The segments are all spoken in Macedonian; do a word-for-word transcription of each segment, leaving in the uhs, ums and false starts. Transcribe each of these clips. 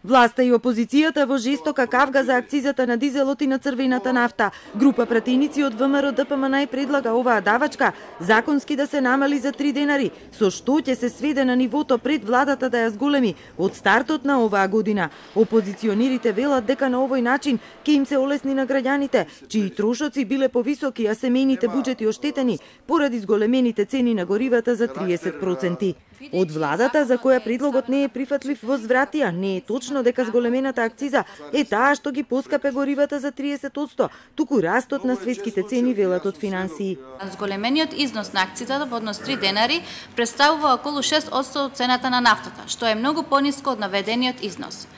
Власта и опозицијата во жестока кавга за акцизата на дизелот и на црвената нафта. Група пратеници од ВМРО Д П М Н предлага оваа давачка законски да се намали за три денари, со што ќе се сведе на нивото пред владата да ја зголеми од стартот на оваа година. Опозиционерите велат дека на овој начин ќе им се олесни на граѓаните, чии трошоци биле повисоки, а семејните буџети оштетени поради зголемените цени на горивата за триесет проценти. Од владата, за која предлогот не е прифатлив, возвратија не е точно дека зголемената акциза е таа што ги поскапе горивата за триесет проценти, туку растот на светските цени, велат од финансии. Зголемениот износ на акцизата во однос три денари представува околу шест проценти од цената на нафтата, што е многу пониско од наведениот износ.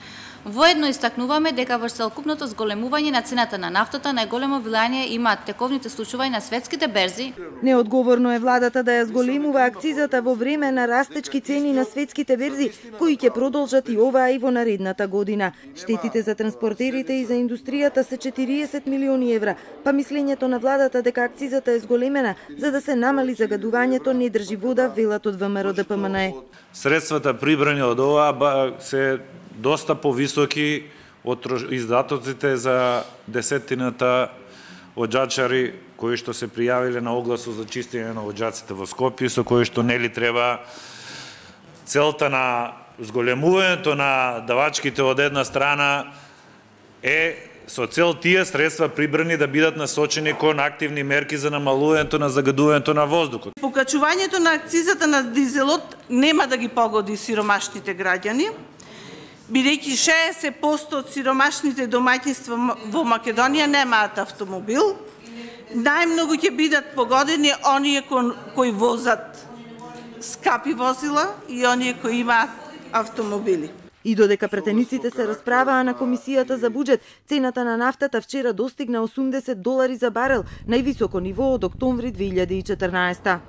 Воедно истакнуваме дека во целокупното зголемување на цената на нафтата најголемо влијание имаат тековните случувања на светските берзи. Неодговорно е владата да ја зголемува акцизата во време на растечки цени на светските берзи, кои ќе продолжат и оваа и во наредната година. Штетите за транспортерите и за индустријата се четириесет милиони евра, па мислењето на владата дека акцизата е зголемена за да се намали загадувањето не држи вода, велат од ВМРО Д П М Н. Средствата прибрани од оваа се доста повисоки од издатоците за десетината оџачари кои што се пријавиле на огласот за чистење на оџаците во Скопје, со кои што нели треба целта на зголемувањето на давачките од една страна е со цел тие средства прибрани да бидат насочени кон активни мерки за намалувањето на загадувањето на воздухот. Покачувањето на акцизата на дизелот нема да ги погоди сиромашните граѓани, бидејќи шеесет проценти од сиромашните домаќинства во Македонија немаат автомобил, најмногу ќе бидат погодени оние кои возат скапи возила и оние кои имаат автомобили. И додека пратениците се расправаа на Комисијата за буџет, цената на нафтата вчера достигна осумдесет долари за барел, највисоко ниво од октомври две илјади и четрнаесетта.